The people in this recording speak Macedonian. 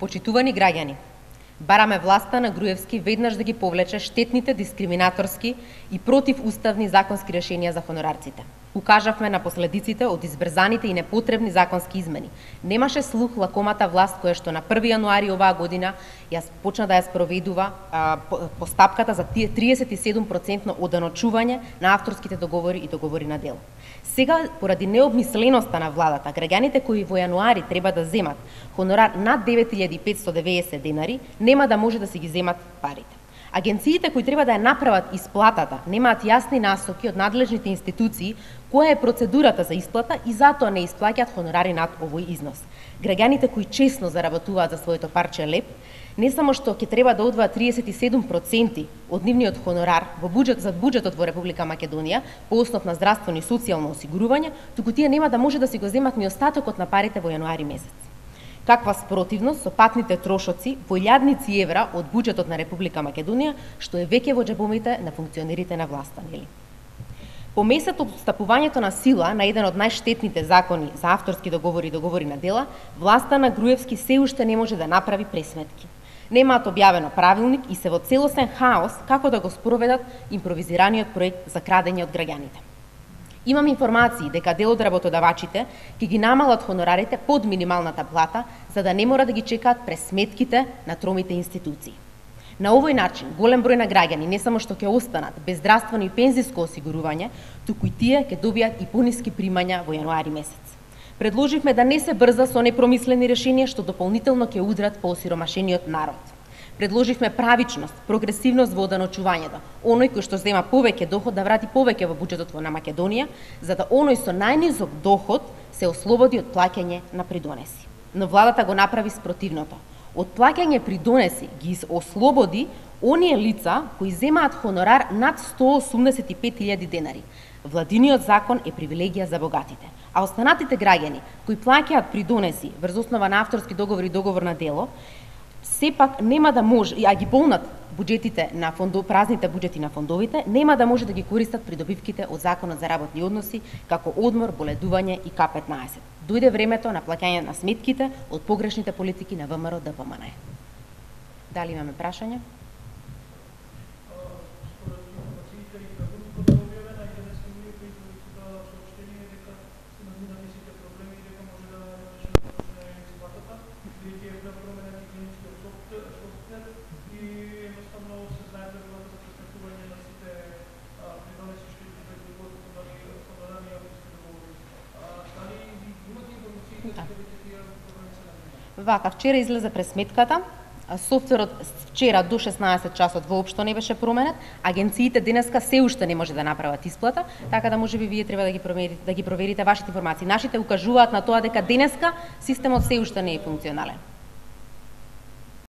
Почитувани граѓани, бараме власта на Груевски веднаш да ги повлече штетните, дискриминаторски и противуставни законски решенија за хонорарците. Укажавме на последиците од избрзаните и непотребни законски измени. Немаше слух лакомата власт која што на 1 јануари оваа година почна да ја спроведува постапката за 37% оданочување на авторските договори и договори на дело. Сега, поради необмисленоста на владата, граѓаните кои во јануари треба да земат хонорар над 9590 денари, нема да може да си ги земат парите. Агенциите кои треба да ја направат исплатата немаат јасни насоки од надлежните институции која е процедурата за исплата и затоа не исплаќаат хонорари над овој износ. Граѓаните кои честно заработуваат за своето парче леп, не само што ќе треба да одвојат 37% од нивниот хонорар за буџетот во Република Македонија по основ на здравствено и социјално осигурување, туку тие нема да може да си го земат ни остатокот на парите во јануари месец. Каква спротивност со патните трошоци во илјадници евра од буџетот на Република Македонија, што е веќе во џебовите на функционерите на власта, нели? По месец од встапувањето на сила на еден од најштетните закони за авторски договори и договори на дела, власта на Груевски се уште не може да направи пресметки. Немаат објавено правилник и се во целосен хаос како да го спроведат импровизираниот проект за крадење од граѓаните. Имам информации дека дел од работодавачите ќе ги намалат хонорарите под минималната плата за да не мора да ги чекаат пресметките на тромите институции. На овој начин, голем број на граѓани не само што ќе останат без здравствено и пензиско осигурување, туку и тие ќе добијат и пониски примања во јануари месец. Предложивме да не се брза со непромислени решенија што дополнително ќе удрат по осиромашениот народ. Предложивме правичност, прогресивност во оданочувањето. Оној кој што зема повеќе доход да врати повеќе во буџетот на Македонија, за да оној со најнизок доход се ослободи од плаќање на придонеси. Но владата го направи спротивното. Од плаќање придонеси ги ослободи оние лица кои земаат хонорар над 185.000 денари. Владиниот закон е привилегија за богатите, а останатите граѓани кои плаќаат придонеси врз основа на авторски договор и договор на дело, сепак нема да може, а ги полнат буџетите на празните буџети на фондовите, нема да може да ги користат придобивките од Законот за работни односи, како одмор, боледување и К15. Дојде времето на плаќање на сметките од погрешните политики на ВМРО ДПМН. Дали имаме прашања? Вака, вчера излезе пресметката, софтверот вчера до 16 часот воопшто не беше променет, агенциите денеска се уште не може да направат исплата, така да можеби вие треба да ги проверите вашите информации. Нашите укажуваат на тоа дека денеска системот се уште не е функционален.